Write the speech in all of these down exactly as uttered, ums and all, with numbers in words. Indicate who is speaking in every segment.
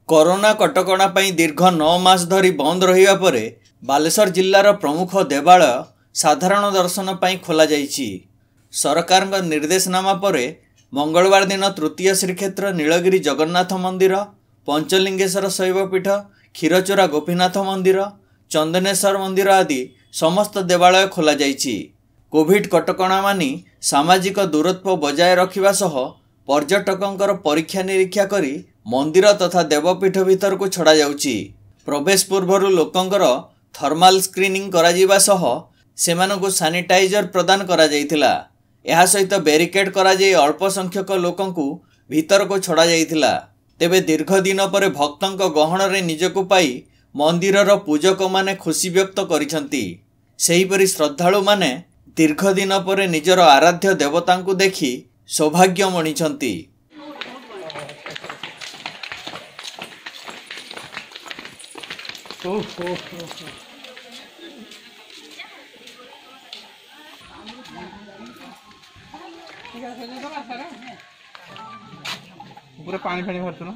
Speaker 1: Corona କଟକଣା ପାଇଁ ଦୀର୍ଘ ନଅ ମାସ ଧରି ବନ୍ଦ ରହିବା ପରେ ବାଲେଶ୍ୱର ଜିଲ୍ଲାର ପ୍ରମୁଖ ଦେବାଳୟ ସାଧାରଣ ଦର୍ଶନ ପାଇଁ ଖୋଲାଯାଇଛି। ସରକାରଙ୍କ ନିର୍ଦ୍ଦେଶନାମା ପରେ ମଙ୍ଗଳବାର ଦିନ ତୃତୀୟ ଶ୍ରୀକ୍ଷେତ୍ର ନୀଳଗିରି ଜଗନ୍ନାଥ ମନ୍ଦିର, ପଞ୍ଚଲିଙ୍ଗେଶ୍ୱର ଶୈବପୀଠ, କ୍ଷୀରଚୋରା ଗୋପୀନାଥ ମନ୍ଦିର, ଚନ୍ଦନେଶ୍ୱର ମନ୍ଦିର ଆଦି ସମସ୍ତ ଦେବାଳୟ ଖୋଲାଯାଇଛି। କୋଭିଡ୍ କଟକଣା ମାନି ସାମାଜିକ ଦୂରତ୍ୱ ବଜାୟ ରଖିବା ସହ ପର୍ଯ୍ୟଟକଙ୍କର ପରୀକ୍ଷା ନିରୀକ୍ଷା କରି ମନ୍ଦିର ତଥା ଦେବପୀଠ ଭିତରକୁ ଛଡ଼ାଯାଉଛି। ପ୍ରବେଶ ପୂର୍ବରୁ ଲୋକଙ୍କର ଥର୍ମାଲ ସ୍କ୍ରିନିଂ କରାଯିବା ସହ ସେମାନଙ୍କୁ ସାନିଟାଇଜର ପ୍ରଦାନ କରାଯାଇଥିଲା। ଏହା ସହିତ ବ୍ୟାରିକେଡ୍ କରାଯାଇ ଅଳ୍ପ ସଂଖ୍ୟକ ଲୋକଙ୍କୁ ଭିତରକୁ ଛଡ଼ାଯାଇଥିଲା। ତେବେ ଦୀର୍ଘ ଦିନ ପରେ ଭକ୍ତଙ୍କ ଗହଣରେ ନିଜକୁ ପାଇ ମନ୍ଦିରର ପୂଜକମାନେ ଖୁସି ବ୍ୟକ୍ତ କରିଛନ୍ତି। ସେହିପରି ଶ୍ରଦ୍ଧାଳୁମାନେ ଦୀର୍ଘ ଦିନ ପରେ ନିଜର ଆରାଧ୍ୟ ଦେବତାଙ୍କୁ ଦେଖି ସୌଭାଗ୍ୟ ମଣିଛନ୍ତି।
Speaker 2: ପୁରା ପାଣି ଫାଣି ବାହାରୁଛୁ ନା।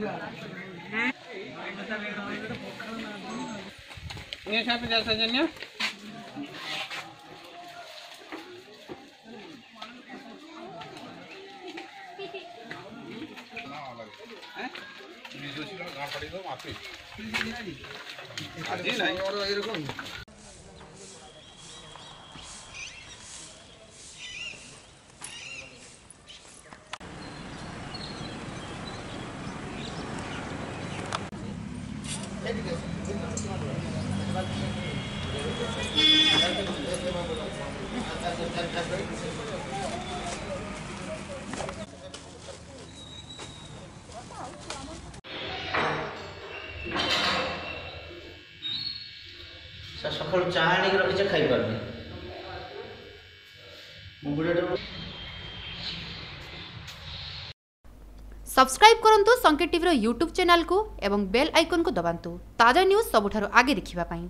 Speaker 3: ସାର୍, ସକାଳୁ ଚା ଆଣିକି ରଖିଛେ, ଖାଇପାରୁନି ମୁଁ ବୁଢ଼ାଟା।
Speaker 4: ସବସ୍କ୍ରାଇବ୍ କରନ୍ତୁ ସଂକେତ ଟିଭିର ୟୁଟ୍ୟୁବ୍ ଚ୍ୟାନେଲକୁ ଏବଂ ବେଲ୍ ଆଇକନ୍କୁ ଦବାନ୍ତୁ ତାଜା ନ୍ୟୁଜ୍ ସବୁଠାରୁ ଆଗେ ଦେଖିବା ପାଇଁ।